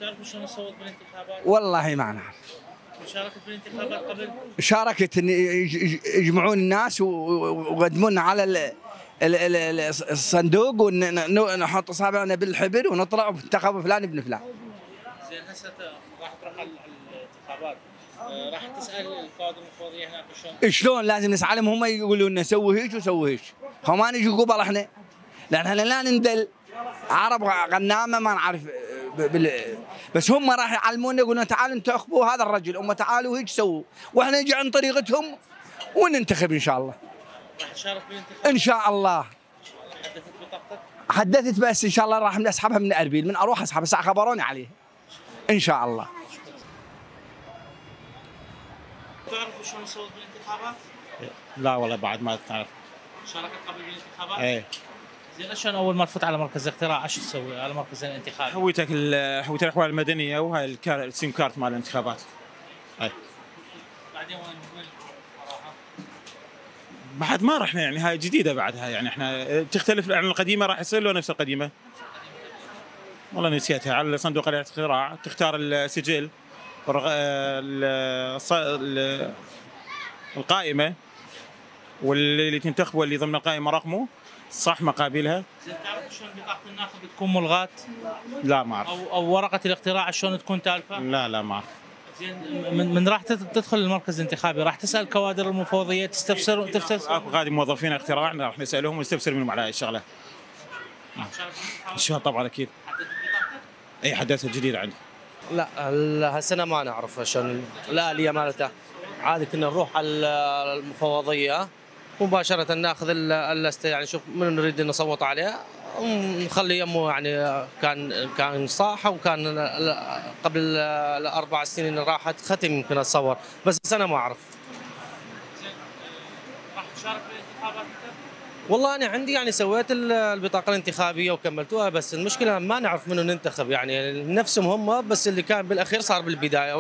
تعرف شلون نصوت بالانتخابات؟ والله ما نعرف. شاركت بالانتخابات قبل؟ شاركت ان يجمعون الناس ويقدمون على الصندوق ونحط اصابعنا بالحبر ونطلع وانتخبوا فلان ابن فلان. زين هسه راح تروح على الانتخابات، راح تسال القواد المفوضيه هناك شلون لازم نسالهم، هم يقولون لنا سوي هيك وسوي هيك، هم ما نجي قبل احنا، لان احنا لا نندل عرب غنامه ما نعرف بس هم راح يعلمونا يقولون تعالوا انتخبوا هذا الرجل، هم تعالوا هيك سووا، واحنا نجي عن طريقتهم وننتخب ان شاء الله. راح تشارك بالانتخابات؟ ان شاء الله. حدثت بطاقتك؟ حدثت بس ان شاء الله راح اسحبها من اربيل، من اروح اسحبها بس خبروني عليها. ان شاء الله. تعرفوا شلون نصوت بالانتخابات؟ لا والله بعد ما تعرف. شاركت قبل بالانتخابات؟ ايه. زين شلون اول ما تفوت على مركز الاقتراع ايش تسوي على مركز الانتخابي؟ حويتك الاحوال المدنيه وهاي السيم كارت مال الانتخابات. اي. بعدين وين راحه؟ بعد ما رحنا يعني هاي جديده بعدها يعني احنا تختلف عن القديمه، راح يصير له نفس القديمه. والله نسيتها. على صندوق الاقتراع تختار السجل القائمه واللي تنتخبه اللي ضمن القائمه رقمه صح مقابلها. زين تعرف شلون بطاقه الناخب تكون ملغاة؟ لا ما اعرف. او ورقه الاقتراع شلون تكون تالفه؟ لا ما اعرف. زين من راح تدخل المركز الانتخابي راح تسال كوادر المفوضيه تستفسر اكو غادي موظفين اقتراع راح نسالهم ونستفسر منهم على هاي الشغله. ان شاء الله طبعا اكيد. اي حدثت جديد عندي. لا هالسنه ما نعرف شلون الاليه مالته، عادي كنا نروح على المفوضيه مباشره ناخذ اللسته، يعني نشوف من نريد نصوت عليه ونخلي يمه، يعني كان صح وكان قبل الاربع سنين راحت ختم يمكن اتصور، بس السنه ما اعرف. زين راح تشارك بالانتخابات انت؟ والله انا عندي يعني سويت البطاقه الانتخابيه وكملتوها، بس المشكله ما نعرف منو ننتخب، يعني نفسهم هم بس اللي كان بالاخير صار بالبدايه.